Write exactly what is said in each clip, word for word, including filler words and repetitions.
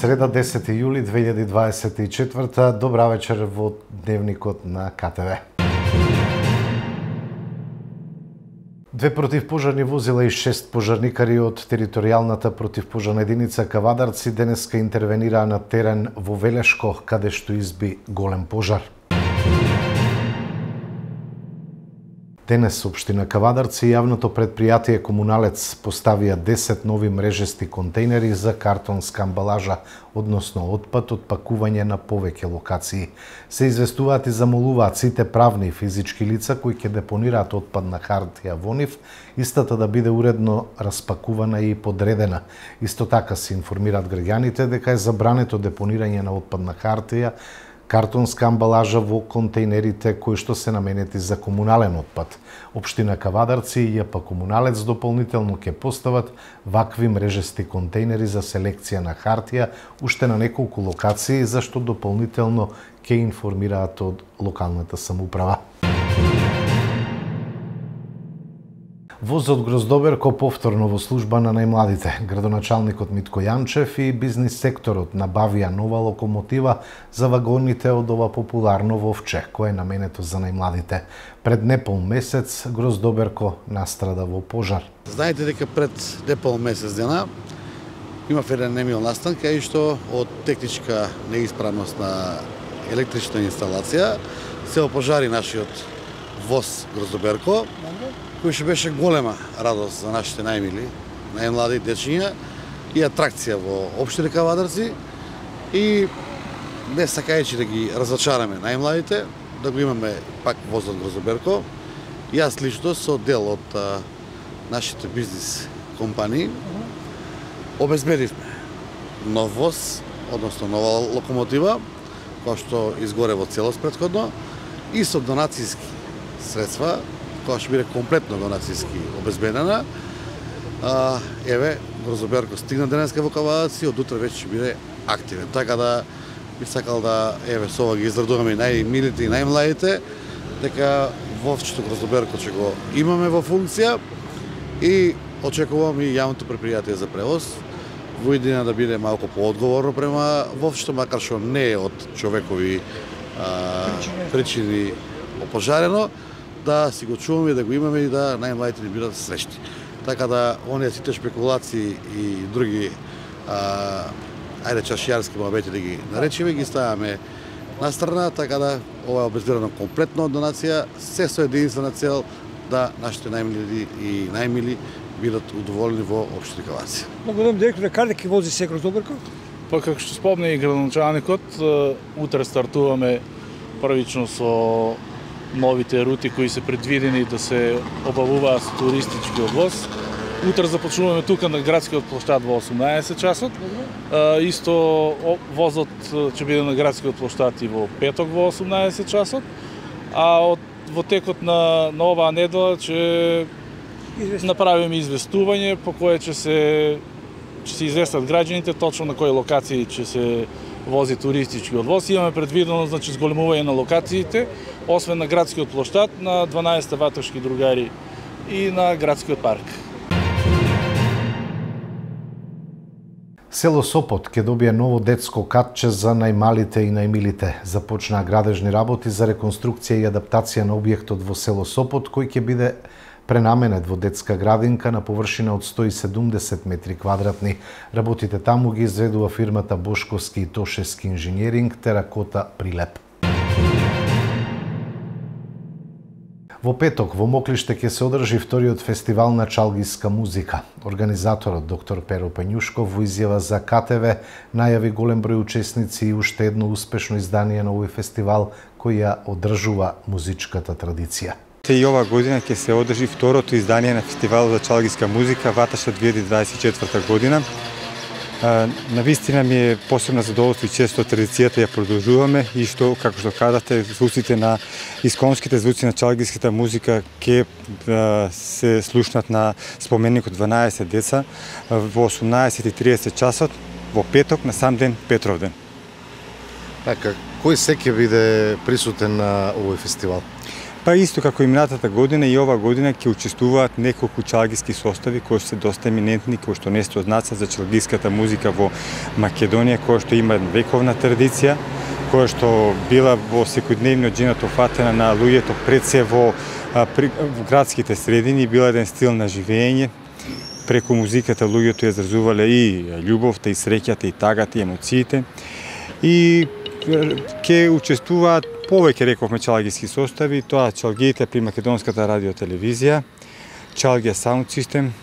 Среда десети јули две илјади дваесет и четврта. Добра вечер во дневникот на К Т В. Две противпожарни возила и шест пожарникари од територијалната противпожарна единица Кавадарци денеска интервенираа на терен во Велешко, каде што изби голем пожар. Денес општина Кавадарци и јавното предпријатие Комуналец поставија десет нови мрежести контейнери за картонска амбалажа, односно отпад од пакување на повеќе локации. Се известуваат и замолуваат сите правни и физички лица кои ќе депонираат отпадна хартија во нив, истата да биде уредно распакувана и подредена. Исто така се информираат граѓаните дека е забрането депонирање на отпадна хартија, картонска амбалажа во контейнерите кои што се наменети за комунален отпад. Општина Кавадарци и Ј П Комуналец дополнително ќе постават вакви мрежести контейнери за селекција на хартија уште на неколку локации, за што дополнително ќе информираат од локалната самоуправа. Возот Гроздоберко повторно во служба на најмладите. Градоначалникот Митко Јанчев и бизнис секторот набавија нова локомотива за вагоните од ова популарно вовче, кое е наменето за најмладите. Пред непол месец Гроздоберко настрада во пожар. Знаете дека пред непол месец дена имав еден немил настан, кај што од техничка неисправност на електрична инсталација се опожари нашиот воз Гроздоберко, кој што беше голема радост за нашите најмили, најмлади дечиња и атракција во општина Кавадарци. И не сакајќи да ги разочараме најмладите, да го имаме пак возот Гроздоберко. Јас лично со дел од а, нашите бизнис компании обезбедивме нов воз, односно нова локомотива, која што изгоре во целост претходно, и со донацијски средства, која што биде комплетно донацијски обезбедена. А, еве, Гроздоберко стигна денеска во Кавадарци, од утре веќе ќе биде активен. Така да би сакал да, еве, со ова ги израдуваме и најмилите и најмладите, дека вовчето Гроздоберко ќе го имаме во функција и очекувам и јавното предпријатие за превоз во идеја да биде малку поодговорно према вовчето, макар што не е од човекови а, причини опожарено, да си го чуваме, да го имаме и да најмладите ни бидат среќни. Така да, оние сите шпекулации и други, а, ајде чашијарски моабети да ги наречеме, ги ставаме на страна, така да ова е обезбедено комплетно од донација, се со единствена цел да нашите најмили и најмили бидат удоволени во општина Кавадарци. Благодарам директор, каде ќе вози се Гроздоберко? Па како што спомне и градоначалникот, утре стартуваме првично со новите рути кои се предвидени да се обавуваат со туристичкиот воз. Утре започнуваме тука на градскиот плоштад во осумнаесет часот. Исто возот ќе биде на градскиот плоштад и во петок во осумнаесет часот. А од, во текот на, на оваа недела ќе направиме известување по кое ќе се ќе се известат граѓаните точно на кои локации ќе се вози туристичкиот воз. Имаме предвидено, значи, зголемување на локациите, освен на градскиот плоштад, на дванаесет ватешки другари и на градскиот парк. Село Сопот ќе добие ново детско катче за најмалите и најмилите. Започнаа градежни работи за реконструкција и адаптација на објектот во село Сопот, кој ќе биде пренаменет во детска градинка на површина од сто и седумдесет метри квадратни. Работите таму ги изведува фирмата Бошковски и Тошевски инженеринг Теракота Прилеп. Во петок во Моклиште ќе се одржи вториот фестивал на чалгиска музика. Организаторот доктор Перо Пењушков во изјава за К Т В најави голем број учесници и уште едно успешно издание на овој фестивал кој ја одржува музичката традиција. И ова година ќе се одржи второто издание на фестивалот за чалгиска музика Ваташа две илјади дваесет и четврта година. На вистина ми е посебно задоволство и често традицијата ја продолжуваме и што, како што казате, звуците на исконските звуци на чалгиската музика ќе се слушнат на споменикот дванаесет деца во осумнаесет и триесет часот во петок на сам ден Петровден. Така, кој се ќе биде присутен на овој фестивал? Па исто како и минатата година и ова година ќе учествуваат неколку чалгиски состави кои се доста еминентни, кои што несто знацат за чалгиската музика во Македонија, која што има вековна традиција, која што била во секојдневниот живот офатена на луѓето пред се во, при, во градските средини, била еден стил на живење. Преку музиката луѓето ја изразувале и љубовта, и среќата, и тагата, и емоциите. И ќе учествуваат повеќе, рековме, чалгиски состави, тоа чалгиите при Македонската радиотелевизија, Чалгија Саунд Систем,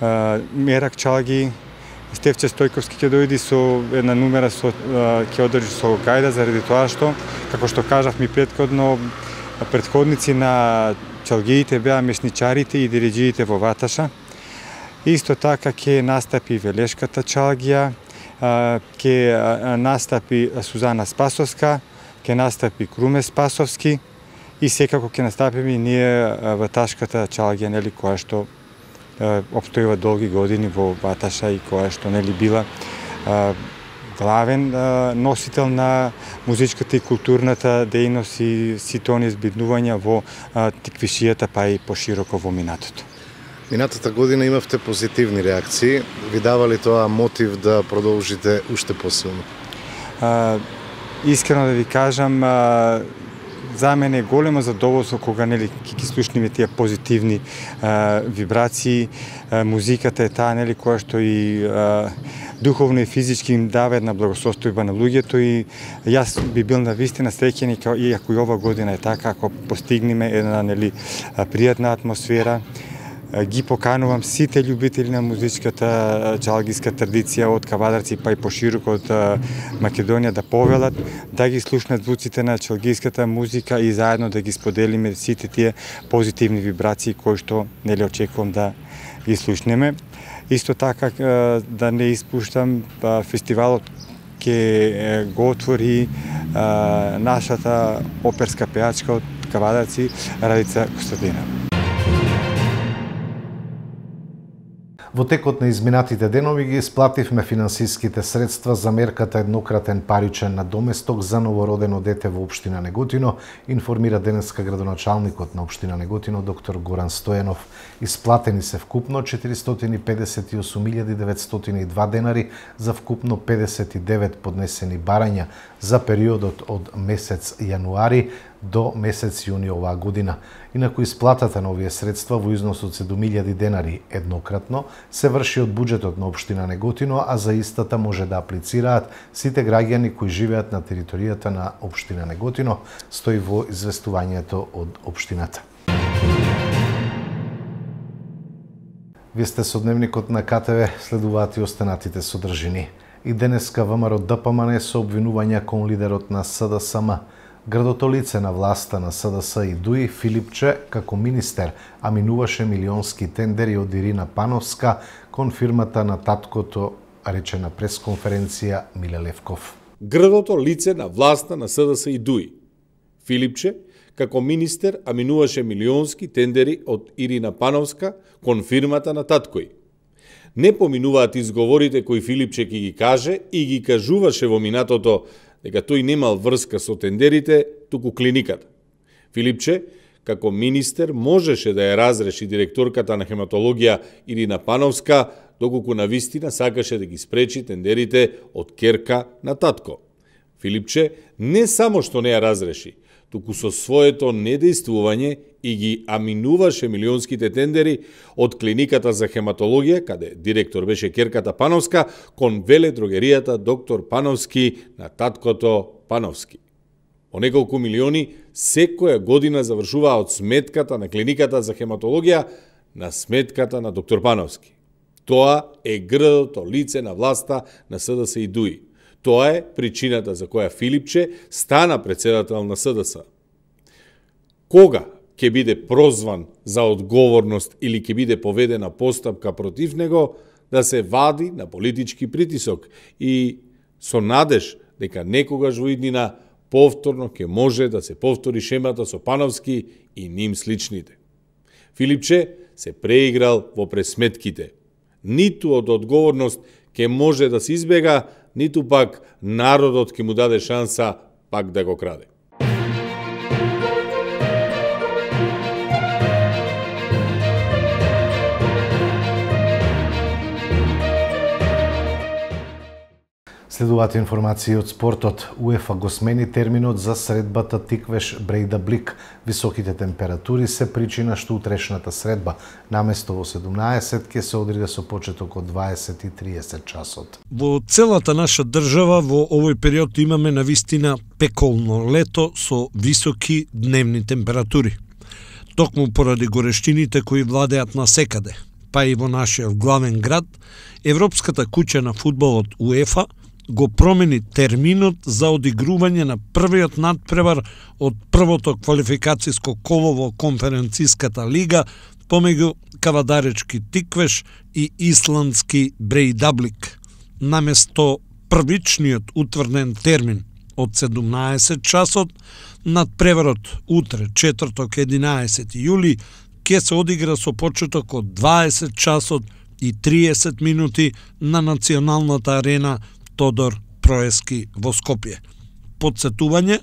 Мерак Чалги, Стефче Стојковски ќе дојди со една нумера, со, ќе одржи со гајда, заради тоа што, како што кажавме предходно, предходници на чалгиите беа месничарите и дириџиите во Ваташа. Исто така ќе настапи Велешката чалгија, ќе настапи Сузана Спасовска, ќе настапи Круме Спасовски и секако ќе настапиме и ние Ваташката чалгија, нели, која што обстојува долги години во Ваташа и која што, нели, била главен носител на музичката и културната дејност и сите оние збиднувања во Тиквишијата, па и пошироко во минатото. Минатата година имавте позитивни реакции. Ви дава ли тоа мотив да продолжите уште посилно? А, искрено да ви кажам, а, за мене е големо задоволство кога, нели, ќе ги слушнеме тие позитивни а, вибрации. А, музиката е таа, нели, која што и а, духовно и физички им дава една благосостојба на луѓето и јас би бил навистина среќен и ако и ова година е така, ако постигнеме една, нели, пријатна атмосфера. Ги поканувам сите љубители на музичката чалгиска традиција од Кавадарци па и пошироко од Македонија да повелат, да ги слушнат звуците на чалгиската музика и заедно да ги споделиме сите тие позитивни вибрации кои што, нели, очекувам да ги слушнеме. Исто така да не испуштам, фестивалот ќе го отвори нашата оперска пеачка од Кавадарци, Радица Костадина. Во текот на изминатите денови ги исплативме финансиските средства за мерката еднократен паричен надоместок за новородено дете во општина Неготино, информира денеска градоначалникот на општина Неготино доктор Горан Стојанов. Исплатени се вкупно четиристотини и педесет и осум илјади деветстотини и два денари за вкупно педесет и девет поднесени барања за периодот од месец јануари до месец јуни оваа година. Инаку исплатата на овие средства во износ од седум илјади денари еднократно се врши од буџетот на општина Неготино, а за истата може да аплицираат сите граѓани кои живеат на територијата на општина Неготино, стои во известувањето од општината. Вие сте со дневникот на КТВ, следуваат и останатите содржини. И денеска ВМРО Д П М Н со обвинувања кон лидерот на С Д С М. Градото лице на власта на С Д С и Дуи, Филипче, како министер, аминуваше милионски тендери од Ирина Пановска кон фирмата на таткото, рече на пресконференција Миле Левков. Градото лице на власта на С Д С и Дуи, Филипче, како министер, аминуваше милионски тендери од Ирина Пановска кон фирмата на таткој. Не поминуваат изговорите кои Филипче ќе ги каже и ги кажуваше во минатото дека тој немал врска со тендерите, туку клиниката. Филипче, како министер, можеше да ја разреши директорката на хематологија Ирина Пановска, доколку навистина сакаше да ги спречи тендерите од керка на татко. Филипче не само што не ја разреши, туку со своето недејствување и ги аминуваше милионските тендери од клиниката за хематологија, каде директор беше керката Пановска, кон веледрогеријата доктор Пановски на таткото Пановски. По неколку милиони секоја година завршуваа од сметката на клиниката за хематологија на сметката на доктор Пановски. Тоа е грдото лице на власта на С Д С и Дуи. Тоа е причината за која Филипче стана председател на С Д С. Кога ќе биде прозван за одговорност или ќе биде поведена постапка против него, да се вади на политички притисок и со надеж дека некогаш во иднина повторно ќе може да се повтори шемата со Пановски и ним сличните. Филипче се преиграл во пресметките. Ниту од одговорност ќе може да се избега, ниту пак народот ќе му даде шанса пак да го краде. Следуваат информации од спортот. УЕФА го смени терминот за средбата Тиквеш Брейдаблик. Високите температури се причина што утрешната средба наместо во седумнаесет ќе се одриде со почеток од дваесет и триесет часот. Во целата наша држава во овој период имаме навистина пеколно лето со високи дневни температури. Токму поради горештините кои владеат насекаде, па и во нашиот главен град, Европската куќа на фудбалот УЕФА го промени терминот за одигрување на првиот надпревар од првото квалификацијско коло во конференциската лига помеѓу кавадаречки Тиквеш и исландски Брейдаблик. Наместо првичниот утврден термин од седумнаесет часот, надпреварот утре, четврток, единаесети јули, ќе се одигра со почеток од дваесет часот и триесет минути на националната арена Тодор Проески во Скопје. Подсетување,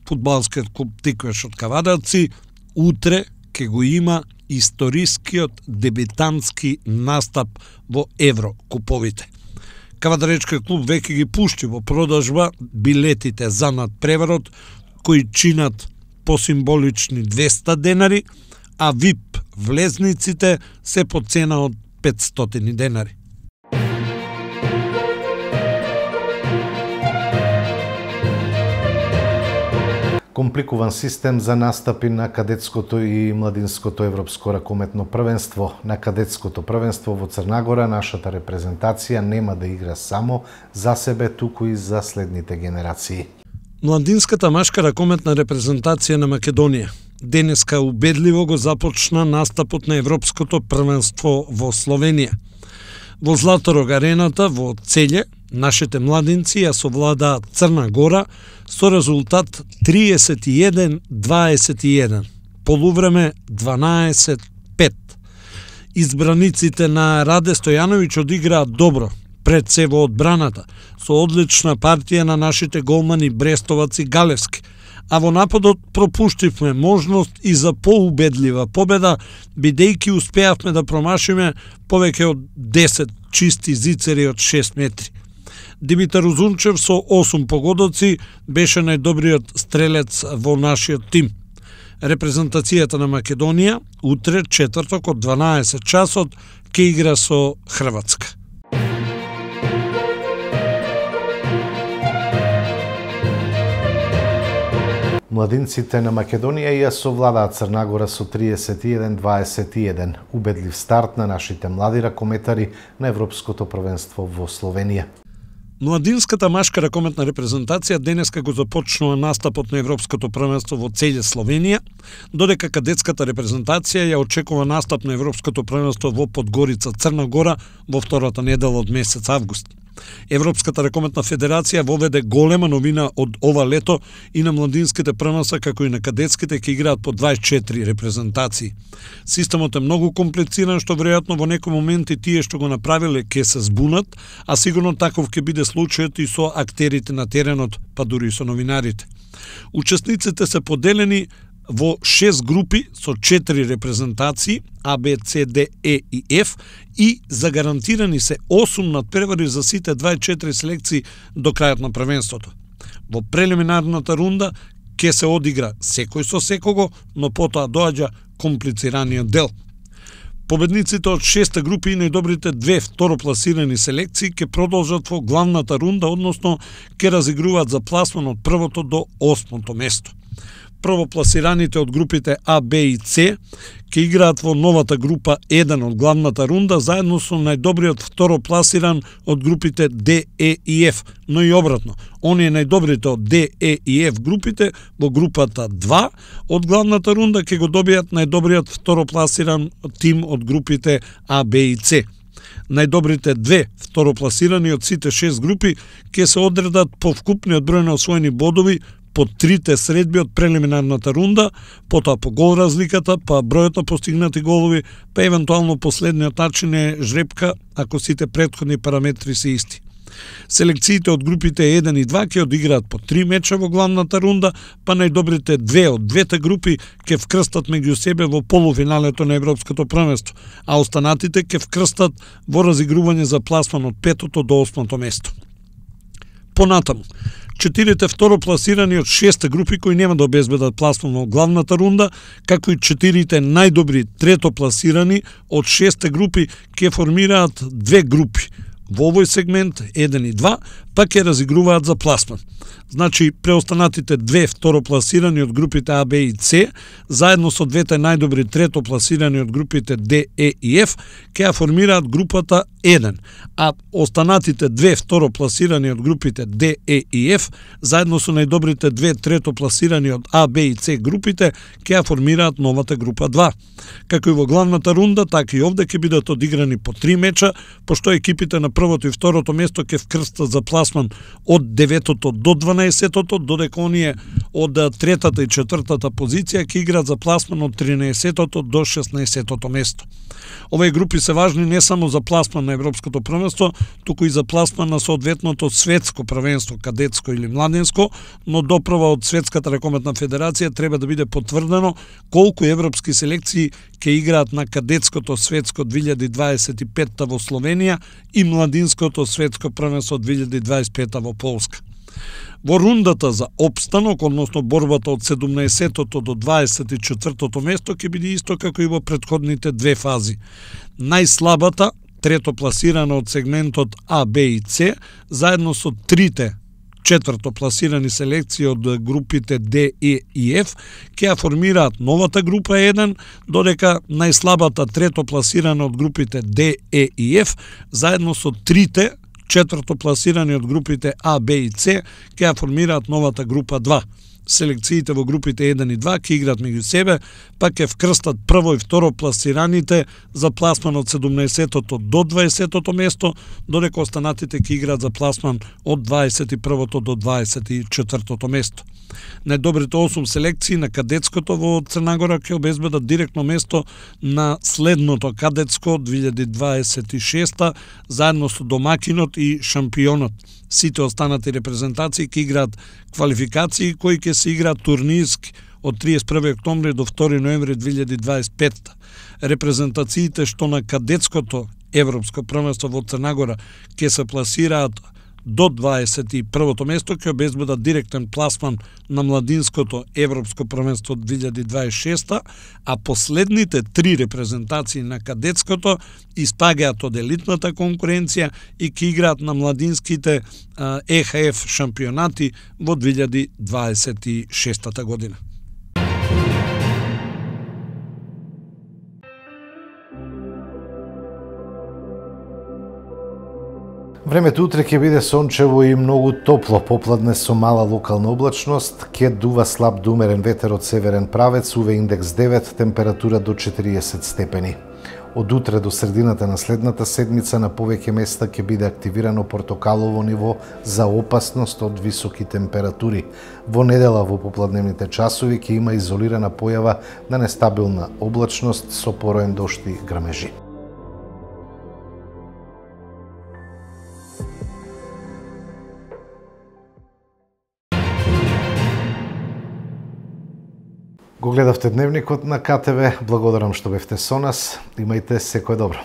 фудбалскиот клуб Тиквеш од Кавадарци утре ќе го има историскиот дебитантски настап во Еврокуповите. Кавадаречкиот клуб веќе ги пушти во продажба билетите за надпреварот кои чинат по символични двеста денари, а вип влезниците се по цена од петстотини денари. Компликуван систем за настапи на кадетското и младинското европско ракометно првенство. На кадетското првенство во Црнагора нашата репрезентација нема да игра само за себе, туку и за следните генерации. Младинската машка ракометна репрезентација на Македонија денеска убедливо го започна настапот на европското првенство во Словенија. Во Златорог арената во Целје нашите младинци ја совладаа Црна Гора со резултат триесет и еден дваесет и еден, полувреме дванаесет пет. Избраниците на Раде Стојановиќ одиграат добро, пред се во одбраната, со одлична партија на нашите голмани Брестовац и Галевски, а во нападот пропуштивме можност и за поубедлива победа, бидејќи успеавме да промашиме повеќе од десет чисти зицери од шест метри. Димитар Узунчев со осум погодоци беше најдобриот стрелец во нашиот тим. Репрезентацијата на Македонија утре, четврток, од дванаесет часот ќе игра со Хрватска. Младинците на Македонија ја совладаат Црнагора со триесет и еден дваесет и еден. Убедлив старт на нашите млади ракометари на Европското првенство во Словенија. Младинската машка ракометна репрезентација денеска го започнува настапот на Европското првенство во Целје, Словенија, додека кадетската репрезентација ја очекува настап на Европското првенство во Подгорица, Црна Гора во втората недела од месец август. Европската ракометна федерација воведе голема новина од ова лето и на младинските првенства како и на кадетските ќе играат по дваесет и четири репрезентации. Системот е многу комплициран што веројатно во некој момент и тие што го направиле ќе се збунат, а сигурно таков ќе биде случајот и со актерите на теренот, па дури и со новинарите. Учесниците се поделени во шест групи со четири репрезентации А, Б, С, Д, Е и Ф и загарантирани се осум надпревари за сите дваесет и четири селекции до крајот на првенството. Во прелиминарната рунда ќе се одигра секој со секого, но потоа доаѓа комплицираниот дел. Победниците од шеста групи и најдобрите две второпласирани селекции ќе продолжат во главната рунда, односно ќе разигруваат за пласман од првото до осмото место. Првопласираните од групите А, Б и С ќе играат во новата група еден од главната рунда заедно со најдобриот второпласиран од групите Д, Е и Ф, но и обратно. Оние најдобрите од Д, Е и Ф групите во групата два од главната рунда ќе го добијат најдобриот второпласиран тим од групите А, Б и С. Најдобрите две второпласирани од сите шест групи ќе се одредат по вкупниот број на освоени бодови по трите средби од прелиминарната рунда, потоа по гол разликата, па бројот на постигнати голови, па евентуално последниот начин е жребка ако сите претходни параметри се исти. Селекциите од групите еден и два ќе одиграат по три меча во главната рунда, па најдобрите две од двете групи ќе вкрстат меѓу себе во полуфиналето на Европското првенство, а останатите ќе вкрстат во разигрување за пласман од петото до осмото место. Понатаму, четирите второпласирани од шесте групи кои нема да обезбедат пласман во главната рунда, како и четирите најдобри третопласирани од шесте групи ќе формираат две групи. Во овој сегмент еден и два, па ќе разигруваат за пласман. Значи, преостанатите две второпласирани од групите А, Б и С, заедно со двете најдобри третопласирани од групите Д, Е и Ф, ќе ја формираат групата еден, а останатите две второпласирани од групите Д, Е и Ф, заедно со најдобрите две третопласирани од А, Б и С групите, ќе ја формираат новата група два. Како и во главната рунда, така и овде ќе бидат одиграни по три меча, пошто екипите на првото и второто место ќе вкрстат за пласман од деветото до дванаесеттото, додека оние од третата и четвртата позиција ќе играат за пласман од тринаесеттото до шеснаесеттото место. Овие групи се важни не само за пласман на Европското првенство, туку и за пласман на соодветното светско првенство, кадетско или младенско, но доправа од Светската ракометна федерација треба да биде потврдено колку европски селекции ќе играат на кадетското светско две илјади дваесет и петта во Словенија и младинското светско првенство две илјади дваесет и петта во Полска. Во рундата за опстанок, односно борбата од седумнаесеттото до дваесет и четвртото место, ќе биде исто како и во претходните две фази. Најслабата, трето пласирана од сегментот А, Б и С, заедно со трите четврто пласирани селекции од групите Д, Е и Ф, ќе ја формираат новата група еден, додека најслабата трето пласирана од групите Д, Е и Ф, заедно со трите четврто пласирани од групите А, Б и С, ќе ја формираат новата група два. Селекциите во групите еден и два ќе играат меѓу себе, па ќе вкрстат прво и второ пласираните за пласман од седумнаесеттото до дваесеттото место, додека останатите ќе играат за пласман од дваесет и првото до дваесет и четвртото место. Најдобрите осум селекции на кадетското во Црна Гора ќе обезбедат директно место на следното кадетско две илјади дваесет и шеста, заедно со домакинот и шампионот. Сите останати репрезентации ќе играат квалификации кои ќе се играат турнирски од триесет и први октомври до втори ноември две илјади дваесет и петта. Репрезентациите што на кадетското европско првенство во Црна Гора ќе се пласираат до дваесет и првото место, ќе обезбедат директен пласман на младинското европско првенство две илјади дваесет и шеста, а последните три репрезентации на кадетското испагаат од елитната конкуренција и ќе играат на младинските Е Х Ф шампионати во две илјади дваесет и шеста година. Времето утре ќе биде сончево и многу топло, попладне со мала локална облачност, ќе дува слаб до умерен ветер од северен правец, УВ индекс девет, температура до четириесет степени. Од утре до средината на следната седмица на повеќе места ќе биде активирано портокалово ниво за опасност од високи температури. Во недела во попладневните часови ќе има изолирана појава на нестабилна облачност со пороен дожд и грмежи. Го гледавте Дневникот на К Т В. Благодарам што бевте со нас. Имајте секое добро.